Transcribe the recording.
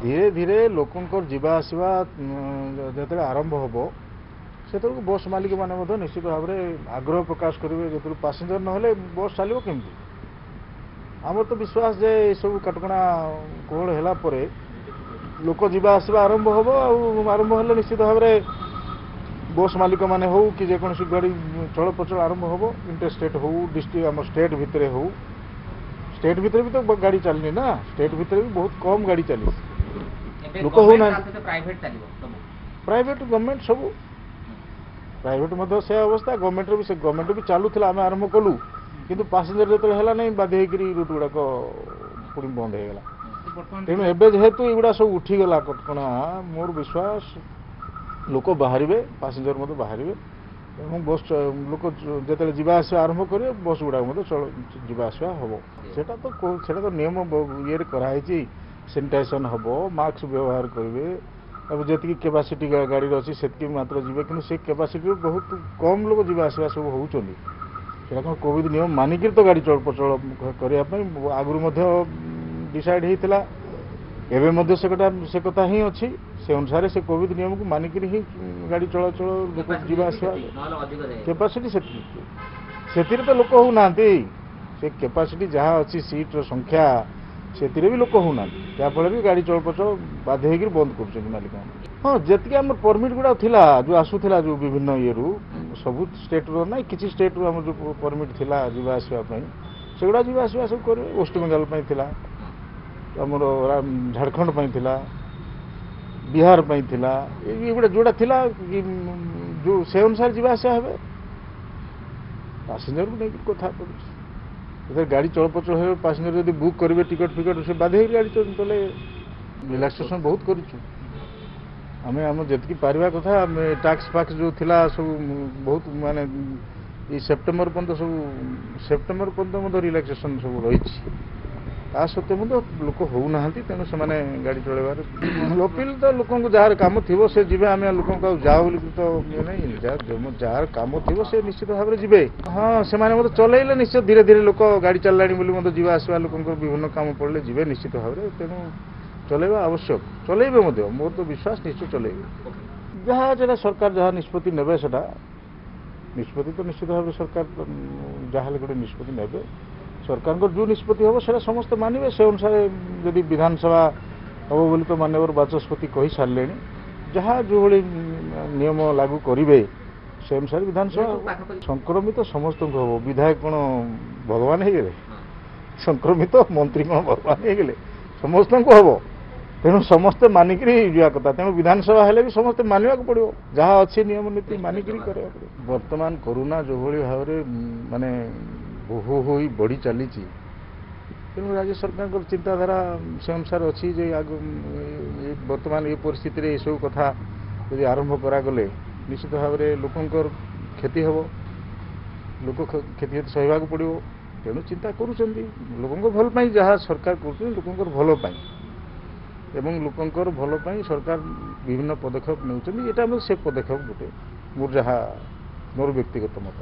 ଧୀରେ ଧୀରେ ଲୋକଙ୍କର ଯିବା ଆସିବା ଯେତେବେଳେ ଆରମ୍ଭ ହେବ, ସେତେବେଳକୁ ବସ୍ ମାଲିକମାନେ ମଧ୍ୟ ନିଶ୍ଚିତ ଭାବରେ ଆଗ୍ରହ ପ୍ରକାଶ କରିବେ। ଯେତେବେଳେ ପାସେଞ୍ଜର ନହେଲେ ବସ୍ ଚାଲିବ କେମିତି? ଆମର ତ ବିଶ୍ୱାସ ଯେ ଏସବୁ କଟକଣା କୋହଳ ହେଲା ପରେ ଲୋକ ଯିବା ଆସିବା ଆରମ୍ଭ ହେବ, ଆଉ ଆରମ୍ଭ ହେଲେ ନିଶ୍ଚିତ ଭାବରେ ବସ୍ ମାଲିକମାନେ ହେଉ କି ଯେକୌଣସି ଗାଡ଼ି ଚଳପ୍ରଚଳ ଆରମ୍ଭ ହେବ। ଇଣ୍ଟର ଷ୍ଟେଟ୍ ହେଉ, ଡିଷ୍ଟ୍ରିକ୍ଟ ଆମ ଷ୍ଟେଟ୍ ଭିତରେ ହେଉ, ଷ୍ଟେଟ୍ ଭିତରେ ବି ତ ଗାଡ଼ି ଚାଲିନି ନା, ଷ୍ଟେଟ୍ ଭିତରେ ବି ବହୁତ କମ୍ ଗାଡ଼ି ଚାଲିଛି, ଲୋକ ହେଉନାହାନ୍ତି। ପ୍ରାଇଭେଟ୍ ଗଭର୍ଣ୍ଣମେଣ୍ଟ ସବୁ ପ୍ରାଇଭେଟ୍ ମଧ୍ୟ ସେ ଅବସ୍ଥା, ଗଭର୍ଣ୍ଣମେଣ୍ଟର ବି ସେ ଗଭର୍ଣ୍ଣମେଣ୍ଟ ବି ଚାଲୁଥିଲା, ଆମେ ଆରମ୍ଭ କଲୁ, କିନ୍ତୁ ପାସେଞ୍ଜର ଯେତେବେଳେ ହେଲା ନାହିଁ ବାଧ୍ୟ ହେଇକରି ରୁଟ୍ ଗୁଡ଼ାକ ପୁଣି ବନ୍ଦ ହେଇଗଲା। ତେଣୁ ଏବେ ଯେହେତୁ ଏଗୁଡ଼ା ସବୁ ଉଠିଗଲା କଟକଣା, ମୋର ବିଶ୍ୱାସ ଲୋକ ବାହାରିବେ, ପାସେଞ୍ଜର ମଧ୍ୟ ବାହାରିବେ ଏବଂ ବସ୍ ଲୋକ ଯେତେବେଳେ ଯିବା ଆସିବା ଆରମ୍ଭ କରିବେ ବସ୍ ଗୁଡ଼ାକ ମଧ୍ୟ ଯିବା ଆସିବା ହେବ। ସେଟା ତ ନିୟମ ଇଏରେ କରାହେଇଛି, ସାନିଟାଇଜେସନ୍ ହେବ, ମାସ୍କ ବ୍ୟବହାର କରିବେ ଏବଂ ଯେତିକି କେପାସିଟି ଗାଡ଼ିର ଅଛି ସେତିକି ମାତ୍ର ଯିବେ, କିନ୍ତୁ ସେ କେପାସିଟିରୁ ବହୁତ କମ୍ ଲୋକ ଯିବା ଆସିବା ସବୁ ହେଉଛନ୍ତି। ସେଇଟା କ'ଣ କୋଭିଡ଼ ନିୟମ ମାନିକିରି ତ ଗାଡ଼ି ଚଳପ୍ରଚଳ କରିବା ପାଇଁ ଆଗରୁ ମଧ୍ୟ ଡିସାଇଡ଼୍ ହେଇଥିଲା, ଏବେ ମଧ୍ୟ ସେ କଥା ହିଁ ଅଛି। ସେ ଅନୁସାରେ ସେ କୋଭିଡ଼ ନିୟମକୁ ମାନିକିରି ହିଁ ଗାଡ଼ି ଚଳାଚଳ ଲୋକ ଯିବା ଆସିବା କେପାସିଟି ସେତିକି, ସେଥିରେ ତ ଲୋକ ହେଉନାହାନ୍ତି। ସେ କେପାସିଟି ଯାହା ଅଛି ସିଟ୍ର ସଂଖ୍ୟା ସେଥିରେ ବି ଲୋକ ହେଉନାହାନ୍ତି, ଯାହାଫଳରେ ବି ଗାଡ଼ି ଚଳପ୍ରଚଳ ବାଧ୍ୟ ହେଇକିରି ବନ୍ଦ କରୁଛନ୍ତି ମାଲିକମାନେ। ହଁ, ଯେତିକି ଆମର ପରମିଟ୍ ଗୁଡ଼ାକ ଥିଲା ଯେଉଁ ଆସୁଥିଲା ଯେଉଁ ବିଭିନ୍ନ ଇଏରୁ, ସବୁ ଷ୍ଟେଟ୍ରୁ ନାହିଁ, କିଛି ଷ୍ଟେଟ୍ରୁ ଆମର ଯେଉଁ ପରମିଟ୍ ଥିଲା ଯିବା ଆସିବା ପାଇଁ ସେଗୁଡ଼ା ଯିବା ଆସିବା ସବୁ କରିବେ। ୱେଷ୍ଟବେଙ୍ଗଲ ପାଇଁ ଥିଲା, ଆମର ଝାଡ଼ଖଣ୍ଡ ପାଇଁ ଥିଲା, ବିହାର ପାଇଁ ଥିଲା, ଏଗୁଡ଼ା ଯେଉଁଟା ଥିଲା ଯେଉଁ ସେ ଅନୁସାରେ ଯିବା ଆସିବା ହେବେ। ପାସେଞ୍ଜରକୁ ନେଇକି କଥା ପଡ଼ୁଛି, ଯେତେବେଳେ ଗାଡ଼ି ଚଳପ୍ରଚଳ ହେବେ ପାସେଞ୍ଜର ଯଦି ବୁକ୍ କରିବେ ଟିକେଟ୍ ଫିକେଟ୍ ସେ ବାଧ୍ୟ ହେଇକି ଗାଡ଼ି ଚଲେଇବେ। ରିଲାକ୍ସେସନ୍ ବହୁତ କରିଛୁ ଆମେ, ଆମ ଯେତିକି ପାରିବା କଥା। ଆମେ ଟ୍ୟାକ୍ସ ଫାକ୍ସ ଯେଉଁ ଥିଲା ସବୁ ବହୁତ ମାନେ ଏଇ ସେପ୍ଟେମ୍ବର ପର୍ଯ୍ୟନ୍ତ ସବୁ, ସେପ୍ଟେମ୍ବର ପର୍ଯ୍ୟନ୍ତ ମଧ୍ୟ ରିଲାକ୍ସେସନ୍ ସବୁ ରହିଛି। ତା ସତ୍ତ୍ୱେ ମଧ୍ୟ ଲୋକ ହେଉନାହାନ୍ତି, ତେଣୁ ସେମାନେ ଗାଡ଼ି ଚଳାଇବାରେ ଅପିଲ ତ ଲୋକଙ୍କୁ ଯାହାର କାମ ଥିବ ସେ ଯିବେ। ଆମେ ଲୋକଙ୍କୁ ଆଉ ଯାଅ ବୋଲି ତ ଇଏ ନାହିଁ, ଯାହାର କାମ ଥିବ ସେ ନିଶ୍ଚିତ ଭାବରେ ଯିବେ। ହଁ, ସେମାନେ ମଧ୍ୟ ଚଲେଇଲେ ନିଶ୍ଚୟ ଧୀରେ ଧୀରେ ଲୋକ ଗାଡ଼ି ଚାଲିଲାଣି ବୋଲି ମଧ୍ୟ ଯିବା ଆସିବା ଲୋକଙ୍କର ବିଭିନ୍ନ କାମ ପଡ଼ିଲେ ଯିବେ ନିଶ୍ଚିତ ଭାବରେ। ତେଣୁ ଚଲେଇବା ଆବଶ୍ୟକ, ଚଲେଇବେ ମଧ୍ୟ, ମୋର ତ ବିଶ୍ୱାସ ନିଶ୍ଚୟ ଚଲେଇବେ। ଯାହା ଯେଟା ସରକାର ଯାହା ନିଷ୍ପତ୍ତି ନେବେ ସେଟା ନିଷ୍ପତ୍ତି ତ ନିଶ୍ଚିତ ଭାବରେ ସରକାର ଯାହାହେଲେ ଗୋଟେ ନିଷ୍ପତ୍ତି ନେବେ। ସରକାରଙ୍କର ଯେଉଁ ନିଷ୍ପତ୍ତି ହେବ ସେଇଟା ସମସ୍ତେ ମାନିବେ। ସେ ଅନୁସାରେ ଯଦି ବିଧାନସଭା ହେବ ବୋଲି ତ ମାନ୍ୟବର ବାଚସ୍ପତି କହିସାରିଲେଣି, ଯାହା ଯେଉଁଭଳି ନିୟମ ଲାଗୁ କରିବେ ସେ ଅନୁସାରେ ବିଧାନସଭା। ସଂକ୍ରମିତ ସମସ୍ତଙ୍କୁ ହେବ, ବିଧାୟକ କ'ଣ ଭଗବାନ ହେଇଗଲେ? ସଂକ୍ରମିତ ମନ୍ତ୍ରୀ କ'ଣ ଭଗବାନ ହେଇଗଲେ? ସମସ୍ତଙ୍କୁ ହେବ, ତେଣୁ ସମସ୍ତେ ମାନିକିରି ଯିବା କଥା। ତେଣୁ ବିଧାନସଭା ହେଲେ ବି ସମସ୍ତେ ମାନିବାକୁ ପଡ଼ିବ, ଯାହା ଅଛି ନିୟମ ନୀତି ମାନିକିରି କରିବାକୁ ପଡ଼ିବ। ବର୍ତ୍ତମାନ କରୋନା ଯେଉଁଭଳି ଭାବରେ ମାନେ ବହୁ ହୋଇ ବଢ଼ି ଚାଲିଛି, ତେଣୁ ରାଜ୍ୟ ସରକାରଙ୍କର ଚିନ୍ତାଧାରା ସେ ଅନୁସାରେ ଅଛି ଯେ ଆଗ ବର୍ତ୍ତମାନ ଏ ପରିସ୍ଥିତିରେ ଏସବୁ କଥା ଯଦି ଆରମ୍ଭ କରାଗଲେ ନିଶ୍ଚିତ ଭାବରେ ଲୋକଙ୍କର କ୍ଷତି ହେବ, ଲୋକ କ୍ଷତି ସହିବାକୁ ପଡ଼ିବ। ତେଣୁ ଚିନ୍ତା କରୁଛନ୍ତି ଲୋକଙ୍କ ଭଲ ପାଇଁ, ଯାହା ସରକାର କରୁଛନ୍ତି ଲୋକଙ୍କର ଭଲ ପାଇଁ ଏବଂ ଲୋକଙ୍କର ଭଲ ପାଇଁ ସରକାର ବିଭିନ୍ନ ପଦକ୍ଷେପ ନେଉଛନ୍ତି। ଏଇଟା ଆମର ସେ ପଦକ୍ଷେପ ଗୋଟେ, ମୋର ଯାହା ମୋର ବ୍ୟକ୍ତିଗତ ମତ।